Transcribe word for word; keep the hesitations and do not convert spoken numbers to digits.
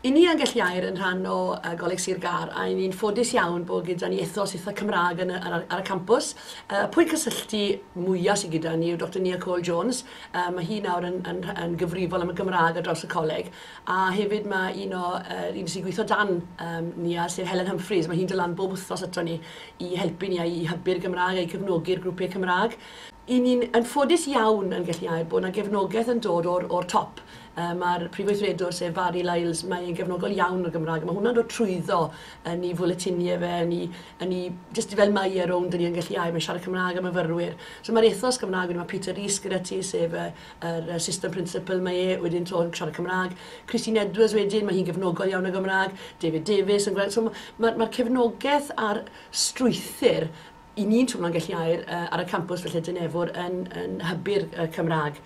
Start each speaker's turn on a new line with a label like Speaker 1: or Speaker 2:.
Speaker 1: I ni yn Gelli Aur yn rhan o uh, Goleg Sir Gâr, a i ni'n ffodus iawn bod gyda ni ethos eitha Cymraeg yn y, ar, ar y campws. Uh, pwynt cysylltu mwyaf sydd gyda ni yw Doctor Nia Cole Jones. Uh, mae hi nawr yn, yn, yn gyfrifol am y Gymraeg ar draws y coleg. A hefyd mae un o uh, un sy'n gweithio dan um, Nia, sef Helen Humphreys. Mae hi'n dod lan bob wythnos ato ni i helpu ni a i hybu'r Gymraeg a i cefnogi'r grwpiau Cymraeg. I ni'n yn ffodus iawn yn Gelli Aur bod yna gefnogaeth yn dod o'r, o'r top. Uh, Mae'r prif weithredwr, sef Barry Lyles, mae'n gefnogol iawn o'r Gymraeg. Mae hwnna'n dod trwyddo yn ei fwletiniau fe, yn ei, yn ei, just fel mae e rownd yn ei yn Gelli Aur, mae'n siarad Cymraeg am myfyrwyr. So mae'r ethos Gymraeg, wedyn mae Peter Rees gyda ti, sef y, yr assistant principal, mae e wedyn to yn siarad Cymraeg. Christine Edwards wedyn, mae hi'n gefnogol iawn y Gymraeg. David Davies yn gweld. So mae'r ma, ma cefnogaeth a'r strwythur i ni'n twmlo'n Gelli Aur uh, ar y campws felly Dinefwr yn, yn hybu'r uh, Cymraeg.